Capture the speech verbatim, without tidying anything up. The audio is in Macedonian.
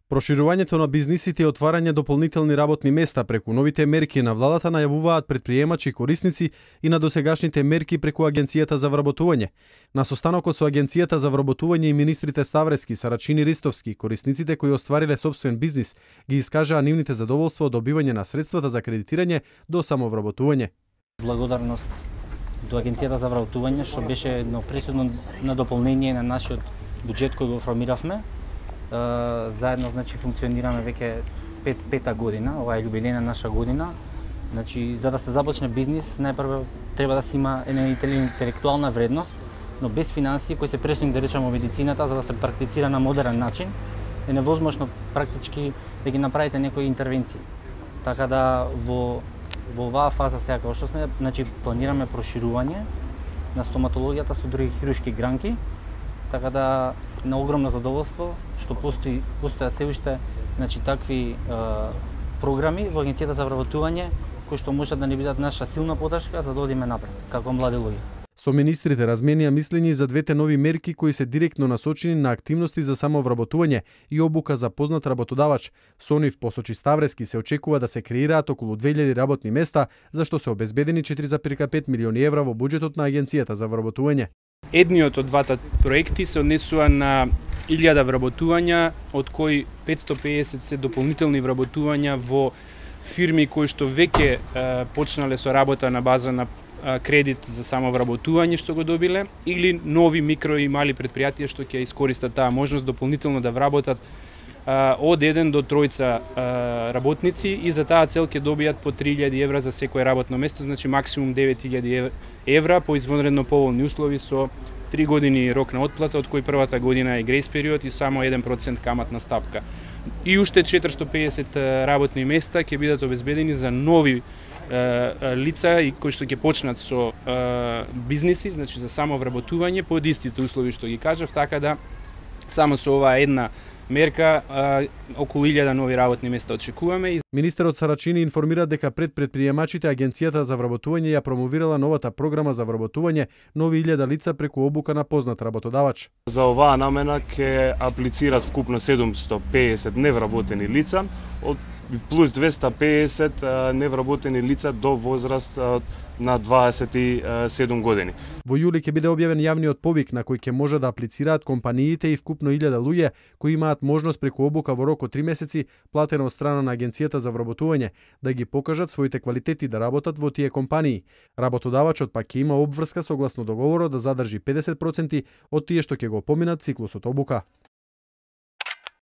Проширувањето на бизнисите и отварање дополнителни работни места преку новите мерки на владата најавуваат претприемачи и корисници и на досегашните мерки преку Агенцијата за вработување. На состанокот со Агенцијата за вработување и министрите Ставрески, Сарачини, Ристовски, корисниците кои оствариле сопствен бизнис ги искажаа нивните задоволства од добивање на средствата за кредитирање до самовработување. Благодарност до Агенцијата за вработување што беше едно пресудно на дополнение на нашиот буџет кој го формиравме. Uh, заедно значи функционираме веќе пет, пета година, ова е јубилејна наша година. Значи за да се започне бизнис, најпрво треба да се има една интелектуална вредност, но без финансии кои се пресни да речеме медицината за да се практицира на модерен начин, е невозможно практички да ги направите некои интервенции. Така да во во оваа фаза сега како што сме, значи планираме проширување на стоматологијата со други хируршки гранки. Така да на огромно задоволство што постои постоја се уште значи такви е, програми во Агенцијата за вработување кои што можат да ни бидат наша силна поддршка за да одиме напред како млади луѓе. Со министрите разменија мислења за двете нови мерки кои се директно насочени на активности за самовработување и обука за познат работодавач. Со нив, посочи Ставрески, се очекува да се креираат околу две илјади работни места, за што се обезбедени четири зарез пет милиони евра во буџетот на Агенцијата за вработување. Едниот од двата проекти се однесува на илјада вработувања, од кои петстотини и педесет се дополнителни вработувања во фирми кои што веќе е, почнале со работа на база на е, кредит за самовработување што го добиле, или нови микро и мали претпријатија што ќе искористат таа можност дополнително да вработат е, од еден до тројца е, работници и за таа цел ќе добијат по три илјади евра за секое работно место, значи максимум девет илјади евра по извонредно поволни услови со три години рок на отплата, од кој првата година е грејс период и само еден процент каматна стапка. И уште четиристотини и педесет работни места ќе бидат обезбедени за нови е, лица и кои што ќе почнат со е, бизниси, значи за самовработување под истите услови што ги кажав, така да само со оваа една мерка а, околу илјада нови работни места очекуваме. Министерот Сарачини информира дека пред претприемачите Агенцијата за вработување ја промовирала новата програма за вработување нови илјада лица преку обука на познат работодавач. За оваа намена ќе аплицират вкупно седумстотини и педесет невработени лица, од плюс двесте и педесет невработени лица до возраст на дваесет и седум години. Во јули ќе биде објавен јавниот повик на кој ќе може да аплицираат компаниите и вкупно илјада луѓе кои имаат можност преку обука во рок од три месеци платена од страна на Агенцијата за вработување да ги покажат своите квалитети да работат во тие компании. Работодавачот пак ќе има обврска согласно договорот да задржи педесет проценти од тие што ќе го поминат циклусот обука.